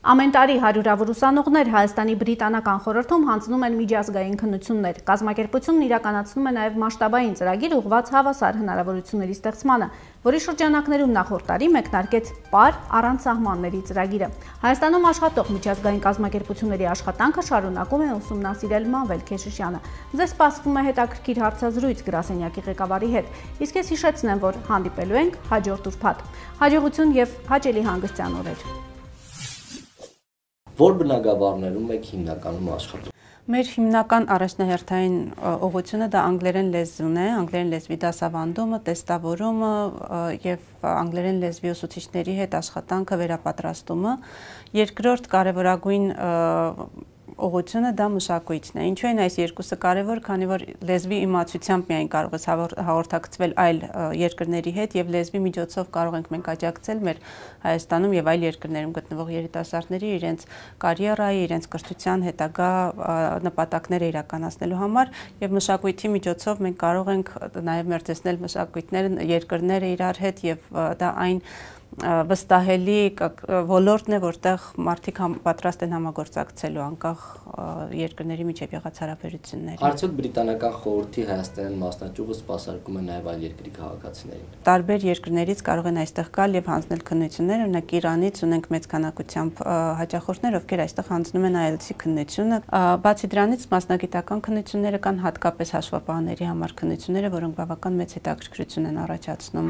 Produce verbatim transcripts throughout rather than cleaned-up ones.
Ամեն տարի հարյուրավոր ուսանողներ Հայաստանի բրիտանական խորհրդում հանձնում են միջազգային քննություններ։ Կազմակերպությունն իրականացնում է նաև մասշտաբային ծրագիր ուղղված հավասար հնարավորությունների ստեղծմանը, որի շրջանակներում նախորդ տարի մեկնարկեց «Պար առանց սահմանների» ծրագիրը։ Հայաստանում աշխատող միջազգային կազմակերպությունների աշխատանքը շարունակում է ուսումնասիրել Մանվել Քեշիշյանը։ Ձեզ սպասվում է հետաքրքիր հարցազրույց գրասենյակի ղեկավարի հետ, իսկ ես հիշեցնեմ, որ հանդիպելու ենք հաջորդ ուրբաթ։ Հաջողություն եւ հաճելի հանգստյան օրեր։ Որ բնագավառներում եք հիմնականում աշխատում։ Մեր հիմնական առաջնահերթային ուղղությունը դա անգլերեն լեզուն է, անգլերեն լեզվի դասավանդումը, տեստավորումը եւ անգլերեն լեզվի ուսուցիչների հետ աշխատանքը, վերապատրաստումը։ Երկրորդ կարևորագույն ուղղությունը դա մշակույթն է։ Ինչու են այս երկուսը կարևոր, քանի որ լեզվի իմացությամբ միայն կարող ես հաղորդակցվել այլ երկրների հետ եւ լեզվի միջոցով կարող ենք մենք աջակցել մեր Հայաստանում եւ այլ երկրներում գտնվող երիտասարդների իրենց կարիերայի, իրենց կրթության հետագա նպատակները իրականացնելու համար եւ մշակույթի միջոցով մենք կարող ենք նաեւ մերձեցնել մշակույթները, երկրները իրար հետ եւ դա այն վստահելի ոլորտն է, որտեղ մարդիկ պատրաստ են համագործակցելու անկախ երկրների միջև եղած հարաբերությունների։ Արդյոք բրիտանական խորհրդի Հայաստանյան մասնաճյուղը սպասարկում է նաև այլ երկրի քաղաքացիներին։ Տարբեր երկրներից կարող են այստեղ գալ եւ հանձնել քննություններ, օրինակ Իրանից ունենք մեծ քանակությամբ հաճախորդներ, ովքեր այստեղ հանձնում են այելցի քննությունը։ Բացի դրանից մասնագիտական քննությունները կան, հատկապես հաշվապահների համար քննությունները, որոնք բավական մեծ հետաքրքրություն են առաջացնում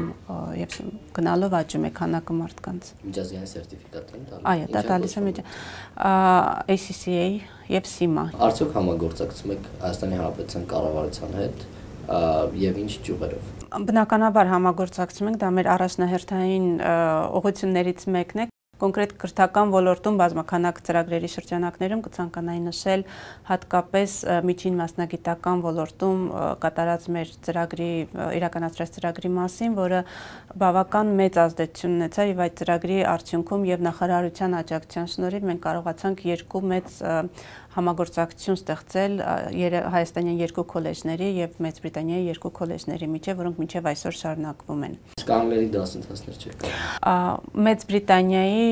եւ գնալով աճում է քանակը մարդկանց։ Միջազգային սերտիֆիկատ են տալիս։ Այո, դա տալիս է A C C A եւ SIMA։ Արդյոք համագործակցում եք Հայաստանի Հանրապետության կառավարության հետ եւ ինչ ճյուղերով։ Բնականաբար համագործակցում ենք, դա մեր առաջնահերթային ուղղություններից մեկն է։ Կոնկրետ կրթական ոլորտում բազմաքանակ ծրագրերի շրջանակներում կցանկանայի նշել հատկապես միջին մասնագիտական ոլորտում կատարած մեր ծրագրի իրականացրած ծրագրի մասին, որը բավական մեծ ազդեցություն ունեցավ եւ այդ ծրագրի արդյունքում եւ նախարարության աջակցության շնորհիվ մենք կարողացանք երկու մեծ համագործակցություն ստեղծել հայաստանյան երկու քոլեջների եւ Մեծ Բրիտանիայի երկու քոլեջների միջեւ, որոնք մինչեւ այսօր շարունակվում են։ Իսկ անգլերի դասընթացներ չեք։ Մեծ Բրիտանիայի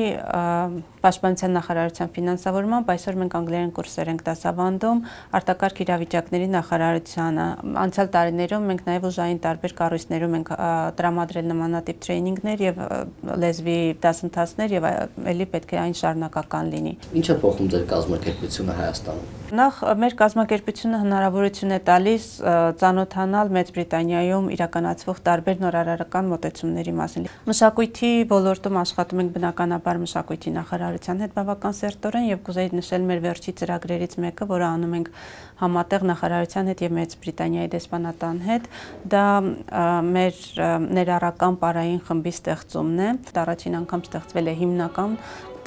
Պաշտպանության նախարարության ֆինանսավորմամբ այսօր մենք անգլերեն կուրսեր ենք դասավանդում արտակարգ իրավիճակների նախարարությանը։ Անցյալ տարիներում մենք նաեւ ուժային տարբեր կառույցներում ենք տրամադրել նմանատիպ տրեյնինգներ եւ լեզվի դասընթացներ եւ ելի պետք է այն շարունակական լինի։ Ինչ է փոխում ձեր կազմակերպությունը Հայաստանում։ Նախ մեր կազմակերպությունը հնարավորություն է տալիս ծանոթանալ Մեծ Բրիտանիայում իրականացվող տարբեր նորարարական մոտեցումների մասին։ Մշակույթի ոլորտում աշխատում ենք բնականաբար մշակույթի նախարարության հետ բավական սերտորեն եւ կուզեի նշել մեր վերջի ծրագրերից մեկը, որը անում ենք համատեղ նախարարության հետ եւ Մեծ Բրիտանիայի դեսպանատան հետ, դա մեր ներառական պարային խմբի ստեղծումն է։ Դա առաջին անգամ ստեղծվել է հիմնական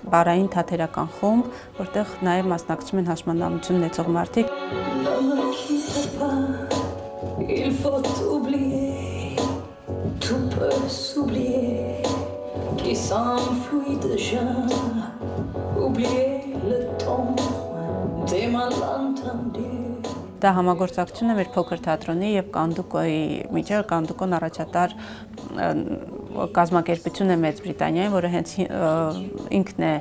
պարային թատերական խումբ, որտեղ նաև մասնակցում են հաշմանդամություն ունեցող մարդիկ։ Դա համագործակցություն է մեր փոքր թատրոնի եւ Կանդուկոյի միջեւ, Կանդուկոն առաջատար կազմակերպություն է Մեծ Բրիտանիայում, որը հենց ինքն է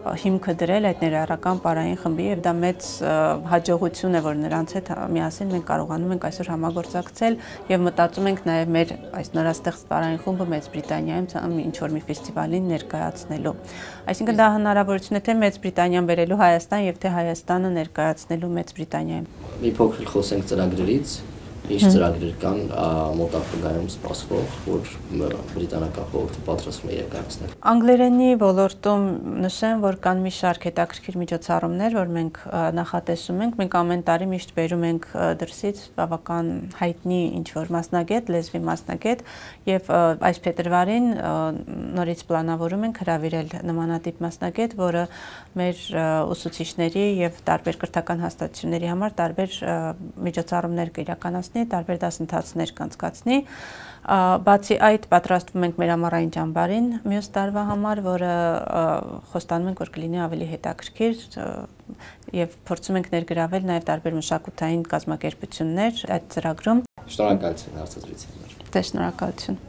հիմքը դրել այդ ներառական պարային խմբի եւ դա մեծ հաջողություն է, որ նրանց հետ միասին մենք կարողանում ենք այսօր համագործակցել եւ մտածում ենք նաեւ մեր այս նորաստեղծ պարային խումբը Մեծ Բրիտանիայում ինչ որ մի ֆեստիվալին ներկայացնելու։ Այսինքն դա հնարավորություն է թե Մեծ Բրիտանիան բերելու Հայաստան եւ թե Հայաստանը ներկայացնելու Մեծ Բրիտանիայում։ Մի փոքր խոսենք ծրագրերից։ Ինչ ծրագրեր կան մոտ ապագայում սպասվող, որ բրիտանական խորհուրդը պատրաստվում է իրականացնել։ Անգլերենի ոլորտում նշեմ, որ կան մի շարք հետաքրքիր միջոցառումներ, որ մենք նախատեսում ենք։ Մենք ամեն տարի միշտ բերում ենք դրսից բավական հայտնի ինչ-որ մասնագետ, լեզվի մասնագետ, եւ այս փետրվարին նորից պլանավորում ենք հրավիրել նմանատիպ մասնագետ, որը մեր ուսուցիչների եւ տարբեր կրթական հաստատությունների համար տարբեր միջոցառումներ կիրականացնի, տարբեր դասընթացներ կանցկացնի։ Բացի այդ պատրաստվում ենք մեր ամառային ճամբարին մյուս տարվա համար, որը խոստանում ենք, որ կլինի ավելի հետաքրքիր եւ փորձում ենք ներգրավել նաեւ տարբեր մշակութային կազմակերպություններ այդ ծրագրում։ Շնորհակալություն հարցազրույցի համար։ Դե շնորհակալություն։